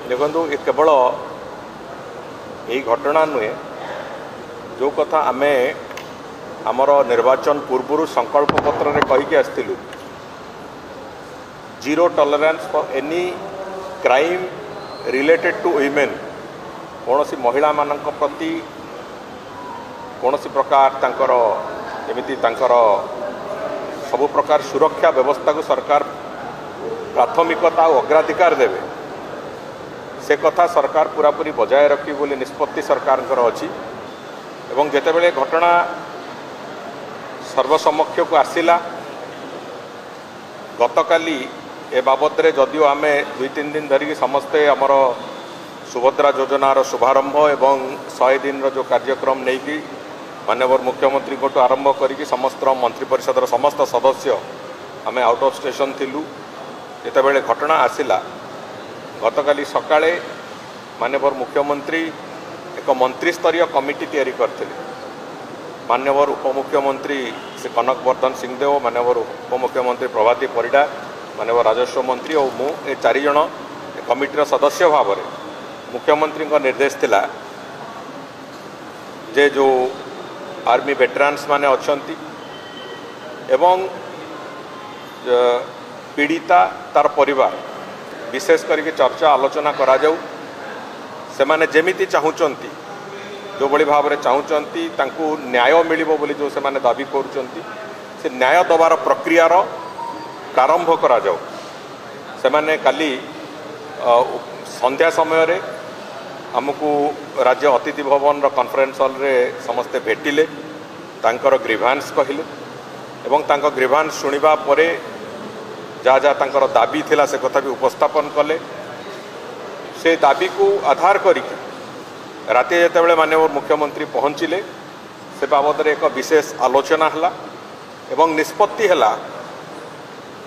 ଦେଖନ୍ତୁ, ଏ କେବଳ ଏଇ ଘଟଣା ନୁହେଁ। ଯେଉଁ କଥା ଆମେ ଆମର ନିର୍ବାଚନ ପୂର୍ବରୁ ସଂକଳ୍ପ ପତ୍ରରେ କହିକି ଆସିଥିଲୁ, zero tolerance for any crime related to women, କୌଣସି ମହିଳାମାନଙ୍କ ପ୍ରତି କୌଣସି ପ୍ରକାର ତାଙ୍କର ଏମିତି ତାଙ୍କର ସବୁ ପ୍ରକାର ସୁରକ୍ଷା ବ୍ୟବସ୍ଥାକୁ ସରକାର ପ୍ରାଥମିକତା ଆଉ ଅଗ୍ରାଧିକାର ଦେବେ, ସେ କଥା ସରକାର ପୁରାପୁରି ବଜାୟ ରଖିବେ ବୋଲି ନିଷ୍ପତ୍ତି ସରକାରଙ୍କର ଅଛି। ଏବଂ ଯେତେବେଳେ ଘଟଣା ସର୍ବସମକ୍ଷକୁ ଆସିଲା ଗତକାଲି, ଏ ବାବଦରେ ଯଦିଓ ଆମେ 2-3 ଦିନ ଧରିକି ସମସ୍ତେ ଆମର ସୁଭଦ୍ରା ଯୋଜନାର ଶୁଭାରମ୍ଭ ଏବଂ 100 ଦିନର ଯେଉଁ କାର୍ଯ୍ୟକ୍ରମ ନେଇକି ମାନ୍ୟବର ମୁଖ୍ୟମନ୍ତ୍ରୀଙ୍କଠୁ ଆରମ୍ଭ କରିକି ସମସ୍ତ ମନ୍ତ୍ରୀ ପରିଷଦର ସମସ୍ତ ସଦସ୍ୟ ଆମେ ଆଉଟ୍ ଅଫ୍ ଷ୍ଟେସନ୍ ଥିଲୁ। ଯେତେବେଳେ ଘଟଣା ଆସିଲା ଗତକାଲି ସକାଳେ, ମାନ୍ୟବର ମୁଖ୍ୟମନ୍ତ୍ରୀ ଏକ ମନ୍ତ୍ରିସ୍ତରୀୟ କମିଟି ତିଆରି କରିଥିଲେ। ମାନ୍ୟବର ଉପମୁଖ୍ୟମନ୍ତ୍ରୀ ଶ୍ରୀ କନକ ବର୍ଦ୍ଧନ ସିଂଦେଓ, ମାନ୍ୟବର ଉପମୁଖ୍ୟମନ୍ତ୍ରୀ ପ୍ରଭାତୀ ପରିଡ଼ା, ମାନ୍ୟବର ରାଜସ୍ୱ ମନ୍ତ୍ରୀ ଓ ମୁଁ, ଏ ଚାରିଜଣ କମିଟିର ସଦସ୍ୟ ଭାବରେ ମୁଖ୍ୟମନ୍ତ୍ରୀଙ୍କ ନିର୍ଦ୍ଦେଶ ଥିଲା ଯେ ଯେଉଁ ଆର୍ମି ଭେଟରାନ୍ସ ମାନେ ଅଛନ୍ତି ଏବଂ ପୀଡ଼ିତା ତାର ପରିବାର, ବିଶେଷ କରିକି ଚର୍ଚ୍ଚା ଆଲୋଚନା କରାଯାଉ। ସେମାନେ ଯେମିତି ଚାହୁଁଛନ୍ତି, ଯେଉଁଭଳି ଭାବରେ ଚାହୁଁଛନ୍ତି, ତାଙ୍କୁ ନ୍ୟାୟ ମିଳିବ ବୋଲି ଯେଉଁ ସେମାନେ ଦାବି କରୁଛନ୍ତି, ସେ ନ୍ୟାୟ ଦେବାର ପ୍ରକ୍ରିୟାର ପ୍ରାରମ୍ଭ କରାଯାଉ। ସେମାନେ କାଲି ସନ୍ଧ୍ୟା ସମୟରେ ଆମକୁ ରାଜ୍ୟ ଅତିଥି ଭବନର କନଫରେନ୍ସ ହଲ୍ରେ ସମସ୍ତେ ଭେଟିଲେ, ତାଙ୍କର ଗ୍ରିଭାନ୍ସ କହିଲେ ଏବଂ ତାଙ୍କ ଗ୍ରିଭାନ୍ସ ଶୁଣିବା ପରେ ଯାହା ଯାହା ତାଙ୍କର ଦାବି ଥିଲା ସେ କଥା ବି ଉପସ୍ଥାପନ କଲେ। ସେ ଦାବିକୁ ଆଧାର କରିକି ରାତି ଯେତେବେଳେ ମାନ୍ୟବର ମୁଖ୍ୟମନ୍ତ୍ରୀ ପହଞ୍ଚିଲେ, ସେ ବାବଦରେ ଏକ ବିଶେଷ ଆଲୋଚନା ହେଲା ଏବଂ ନିଷ୍ପତ୍ତି ହେଲା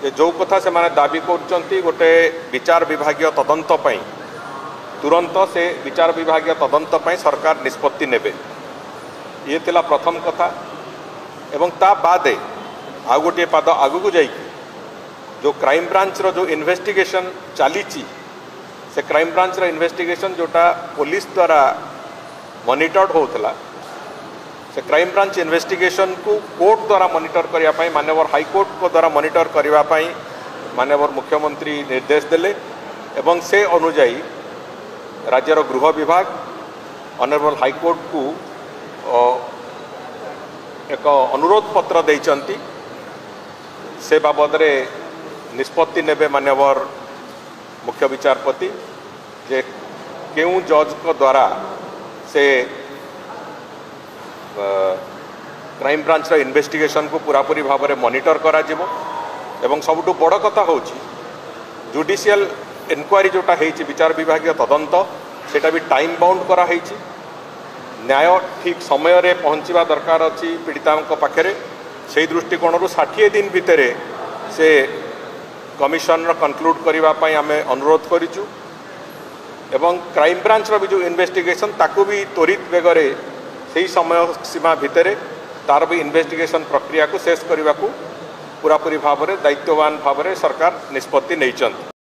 ଯେ ଯେଉଁ କଥା ସେମାନେ ଦାବି କରୁଛନ୍ତି ଗୋଟେ ବିଚାର ବିଭାଗୀୟ ତଦନ୍ତ ପାଇଁ, ତୁରନ୍ତ ସେ ବିଚାର ବିଭାଗୀୟ ତଦନ୍ତ ପାଇଁ ସରକାର ନିଷ୍ପତ୍ତି ନେବେ। ଇଏ ଥିଲା ପ୍ରଥମ କଥା। ଏବଂ ତା ବାଦେ ଆଉ ଗୋଟିଏ ପାଦ ଆଗକୁ ଯାଇକି ଯେଉଁ କ୍ରାଇମବ୍ରାଞ୍ଚର ଯେଉଁ ଇନଭେଷ୍ଟିଗେସନ୍ ଚାଲିଛି, ସେ କ୍ରାଇମବ୍ରାଞ୍ଚର ଇନଭେଷ୍ଟିଗେସନ୍ ଯେଉଁଟା ପୋଲିସ ଦ୍ୱାରା ମନିଟର୍ଡ ହେଉଥିଲା, ସେ କ୍ରାଇମବ୍ରାଞ୍ଚ ଇନଭେଷ୍ଟିଗେସନକୁ କୋର୍ଟ ଦ୍ୱାରା ମନିଟର କରିବା ପାଇଁ, ମାନ୍ୟବର ହାଇକୋର୍ଟଙ୍କ ଦ୍ୱାରା ମନିଟର କରିବା ପାଇଁ ମାନ୍ୟବର ମୁଖ୍ୟମନ୍ତ୍ରୀ ନିର୍ଦ୍ଦେଶ ଦେଲେ। ଏବଂ ସେ ଅନୁଯାୟୀ ରାଜ୍ୟର ଗୃହ ବିଭାଗ ଅନରେବଲ ହାଇକୋର୍ଟକୁ ଏକ ଅନୁରୋଧ ପତ୍ର ଦେଇଛନ୍ତି। ସେ ବାବଦରେ ନିଷ୍ପତ୍ତି ନେବେ ମାନ୍ୟବର ମୁଖ୍ୟ ବିଚାରପତି ଯେ କେଉଁ ଜଜ୍ଙ୍କ ଦ୍ୱାରା ସେ କ୍ରାଇମବ୍ରାଞ୍ଚର ଇନଭେଷ୍ଟିଗେସନକୁ ପୁରାପୁରି ଭାବରେ ମନିଟର କରାଯିବ। ଏବଂ ସବୁଠୁ ବଡ଼ କଥା ହେଉଛି, ଜୁଡ଼ିସିଆଲ ଏନକ୍ୱାରି ଯେଉଁଟା ହେଇଛି, ବିଚାର ବିଭାଗୀୟ ତଦନ୍ତ, ସେଇଟା ବି ଟାଇମ୍ ବାଉଣ୍ଡ କରାହେଇଛି। ନ୍ୟାୟ ଠିକ୍ ସମୟରେ ପହଞ୍ଚିବା ଦରକାର ଅଛି ପୀଡ଼ିତାଙ୍କ ପାଖରେ। ସେଇ ଦୃଷ୍ଟିକୋଣରୁ 60 ଦିନ ଭିତରେ ସେ କମିଶନର କନକ୍ଲୁଡ଼ କରିବା ପାଇଁ ଆମେ ଅନୁରୋଧ କରିଛୁ। ଏବଂ କ୍ରାଇମବ୍ରାଞ୍ଚର ବି ଯେଉଁ ଇନଭେଷ୍ଟିଗେସନ୍, ତାକୁ ବି ତ୍ୱରିତ ବେଗରେ ସେଇ ସମୟ ସୀମା ଭିତରେ ତାର ବି ଇନଭେଷ୍ଟିଗେସନ୍ ପ୍ରକ୍ରିୟାକୁ ଶେଷ କରିବାକୁ ପୁରାପୁରି ଭାବରେ ଦାୟିତ୍ୱବାନ ଭାବରେ ସରକାର ନିଷ୍ପତ୍ତି ନେଇଛନ୍ତି।